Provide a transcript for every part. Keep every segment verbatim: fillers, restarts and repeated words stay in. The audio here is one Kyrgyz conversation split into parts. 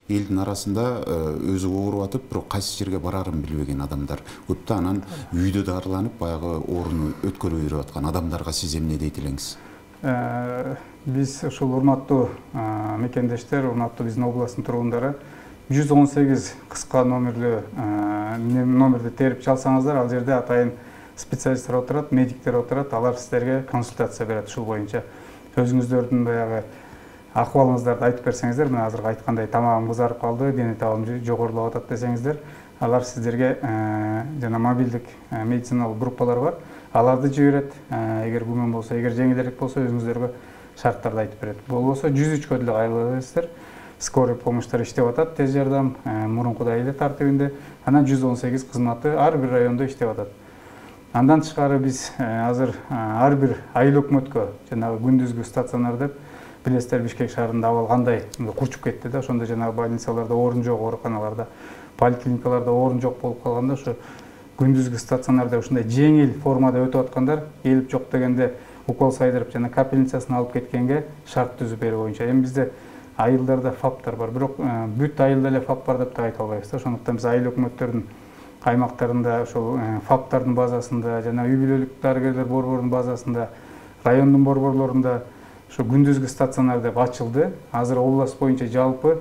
Элдин арасында өзү ооруп атып, бирок кайсы жерге барарын билбеген адамдар көп да, анан үйдө дарыланып, баягы ооруну өткөрүп берип аткан адамдарга сиз эмне дейт элеңиз? Биз ушул урматтуу мекендештер, урматтуу биздин областтын тургундары жүз он сегиз кыска номерлүү номерди терип чалсаңыздар, ал жерде атайын специалисттер отурат, медиктер отурат, алар сиздерге консультация берет ушул боюнча. Өзүңүздөрдүн баягы акыбалыңыздарды айтып берсеңиздер, мен азыр айткандай тамагым кызарып калды, дене табым жогорулап атат десеңиздер, алар сиздерге жана мобилдик медициналык группалар бар. Аларды жиберет. Эгер күмөн болсо, эгер жеңилирээк болсо, өзүңүздөргө шарттарды айтып берет. Болбосо жүз үчкө деле кайрыласыздар. Скорый помощьтар иштеп атат, тез жардам, мурункудай эле тартибинде. Анан жүз он сегиз кызматы ар бир райондо иштеп атат. Андан тышкары биз азыр ар бир айыл өкмөткө, жанагы күндүзгү стационар деп, билесиздер, Бишкек шаарында абал кандай курчуп кетти да, ошондо жанагы больницаларда орун жок, ооруканаларда, поликлиникаларда орун жок болуп калганда, ошо күндүзгү стационарда ушундай жеңил формада өтүп аткандар, келип жок дегенде укол сайдырып жана капельницасын алып кеткенге шарт түзүп берүү боюнча. Эми бизде айылдарда фаптар бар, бирок бүт айылда эле фап бар деп да айта албайбыз да. Ошондуктан биз айыл өкмөттөрдүн аймактарында, ошол фаптардын базасында, жана үй бүлөлүк дарыгерлер борборунун базасында, райондун борборлорунда ошо күндүзгү стационар деп ачылды. Азыр область боюнча жалпы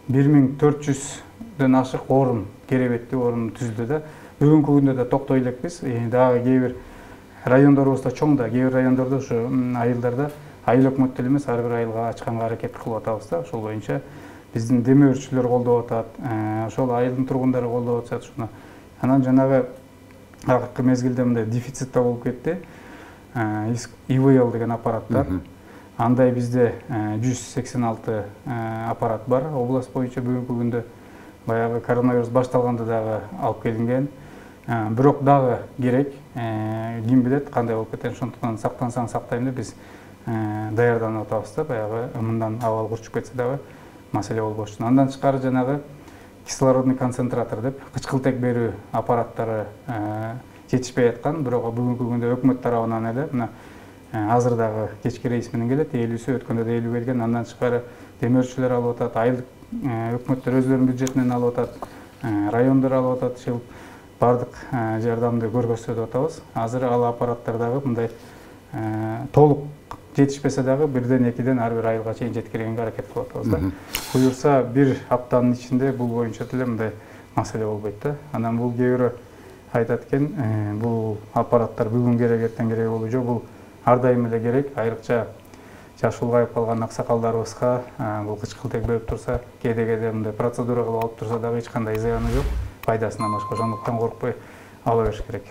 бир миң төрт жүздөн ашык орун, керебеттүү орун түзүлдү да. Бүгүнкү күндө да токтой элекпиз. Дагы кээ бир райондорубузда чоң да, кээ бир райондордо ушу айылдарда айыл өкмөттөр элемес, ар бир айылга ачканга аракет кылып атабыз да. Ошол боюнча биздин демөөрчүлөр колдоп атат, ошол айылдын тургундары колдоп атышат ушуну. Анан жанагы акыркы мезгилде мындай дефицит да болуп кетти. и вэ эл деген аппараттар. Андай бизде жүз сексен алты аппарат бар область боюнча. Бүгүнкү күндө баягы коронавирус башталганда дагы алып келинген. Бирок дагы керек, ким билет кандай болуп кетет. Ошондуктан сактансаң сактайм деп биз даярданып атабыз да, баягы мындан абал курчуп кетсе дагы маселе болбош үчүн. Андан тышкары жанагы кислородный концентратор деп кычкылтек берүү аппараттары жетишпей аткан, бирок бүгүнкү күндө өкмөт тарабынан эле мына азыр дагы кечки рейс менен келет, элүүсү, өткөндө да элүү келген. Андан тышкары демөөрчүлөр алып атат, айылдык өкмөттөр өздөрүнүн бюджетинен алып атат, райондор алып атат. Ушул бардык жардамды көргөзүп атабыз. Азыр ал аппараттар дагы мындай толук жетишпесе дагы бирден экиден ар бир айылга чейин жеткиргенге аракет кылып атабыз да. Буюрса бир аптанын ичинде бул боюнча деле мындай маселе болбойт да. Анан бул кээ бирөө айтат экен, бул аппараттар бүгүн керек, эртең керек болуу жок, бул ар дайым эле керек. Айрыкча жашы улгайып калган аксакалдарыбызга бул кычкылтек берип турса, кээде-кээде мындай процедура кылып алып турса дагы эч кандай зыяны жок, пайдасынан башка. Ошондуктан коркпой ала бериш керек.